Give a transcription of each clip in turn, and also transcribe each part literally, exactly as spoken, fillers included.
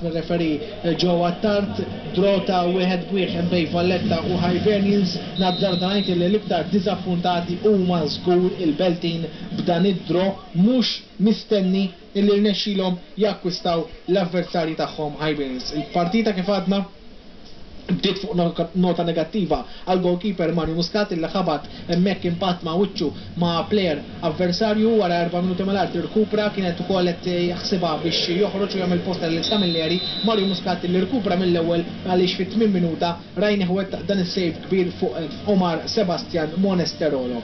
Mir-referee Joe Attard, draw ta' wieħed b'wieħed bejn Valletta u Hibernians. Nazzarda ngħid li l-iktar diżappuntati huma żgur il-Beltin b'dan id-draw mhux mistenni illi rnexxilhom jakkwistaw l-avversarji tagħhom, Hibernians. Il-partita, kif għadna, bdiet fuq nota negattiva għal goalkeeper Mario Muscat, illi ħabat hemmhekk impatt ma' wiċċu ma' player avversarju. Wara erba' minuti mal-art irkupra, kienet ukoll qed jaħsibha biex joħroġ u jagħmel posta lil Camilleri. Mario Muscat li rkupra mill-ewwel, għaliex fit-tmien minuta rajnih wettaq dan is-save kbir fuq Omar Sebastian Monesterolo.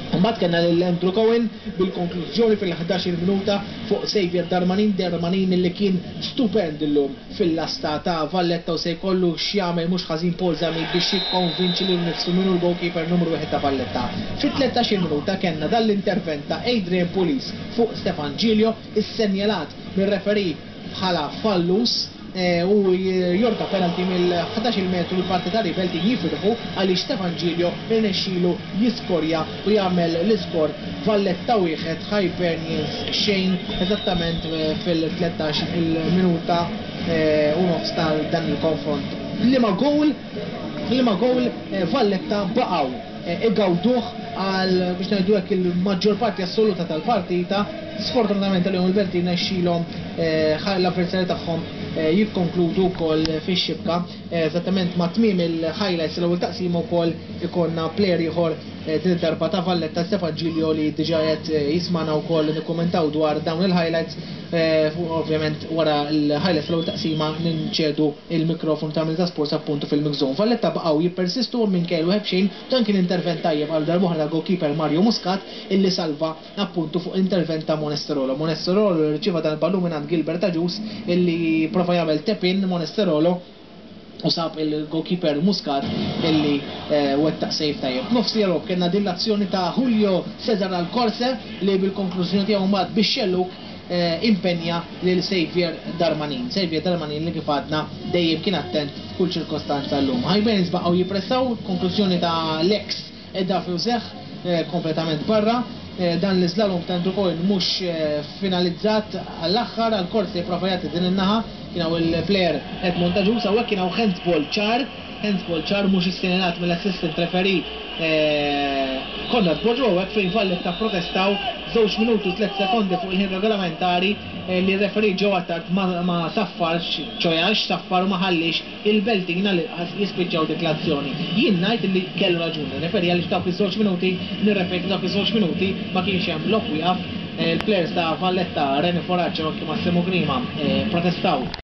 Mbagħad kellna lil Andrew Cohen bil-konklużjoni fil-ħdax-il minuta fuq Xavier Darmanin, Darmanin li kien stupend illum fil-lasta ta' Valletta, u se jkollu x'jagħmel mhux ħażin Paul Zammit biex jikkonvinċi lil nifsu minnu l-goalkeeper numru wieħed ta' Valletta. Fit-tlettax-il minuta kellna dan l-intervent ta' Adrian Pulis fuq Stefan Giglio, issenjalat mir-referee bħala fallus Eh, u jorka penalty mill-ħdax-il metru. L-partitari Beltin jifirħu għaliex Stefan Giglio irnexxielu jiskorja u jagħmel l-iskor Valletta wieħed, Hibernians xejn, eżattament eh, fil-tlettax il-minuta eh, u nofs tal dan il-konfront. Liema goal, liema goal Valletta baqgħu igawduh għal, biex ngħidu hekk, il-maġġor parti assoluta tal-partita. Sfortunatament għalihom, il-Beltin rnexxielhom l-avversarju tagħhom jikkonkludu wkoll fix-xibka. Eżattament ma' tmiem il-highlights l-ewwel taqsima wkoll ikollna player ieħor, din id-darba ta' Valletta, Stefan Giglio, li diġà qed jismana wkoll nikkummentaw dwar dawn il-highlights. Ovvjament wara l-highlights l-ewwel taqsima ninċedu il-mikrofon ta' Milta Sports appuntu fil-mix zone. Valletta baqgħu jippersistu minn kellu ħebxin. Dan kien intervent tajjeb għal darb'oħra goalkeeper Mario Muscat, illi salva appuntu fuq intervent ta' Monesterolo. Monesterolo rċieva dan il-ballun minn Gilbert Agius, illi prova jagħmel tap-in Monesterolo u sab il-goalkeeper Muscat, illi eh, wettaq save tajjeb. Nofs logħob kellna din l-azzjoni ta' Julio Cesar Alcorse, li bil-konklużjoni tiegħu mbagħad bix-xelluk eh, impenja lil Xavier Darmanin. Xavier Darmanin li, kif għadna, dejjem kien attent f'kull ċirkostanza llum. Hibernians baqgħu jippressaw, konklużjoni ta' Lex edda Fewzeħ eh, kompletament barra. Dan l-slalom ta' Andrew Cohen mhux finalizzat għall-aħħar. Għal-Korsi prova jagħti din in-naħa, kien hawn il-player Edmond Agius. Hawnhekk kien hawn handball ċar, handball ċar mhux issenjalat mill-assistant referee Konrad Boġo, hawnhekk fejn Valletta protestaw żewġ minuti u tliet sekondi fuq il-ħin regolamentari li referee Joe Attard ma saffarx, ċojax saffar u ma ħallix il-Beltin għal jispiċċaw dik l-azzjoni. Jien ngħid li kellu raġuni referee, għaliex dawk iż-żewġ minuti, nirrepeti, dawk iż-żewġ minuti ma kienx hemm lok wieqaf. Il-players ta' Valletta, Reni Foraċ u anki Massimo Grima, protestaw.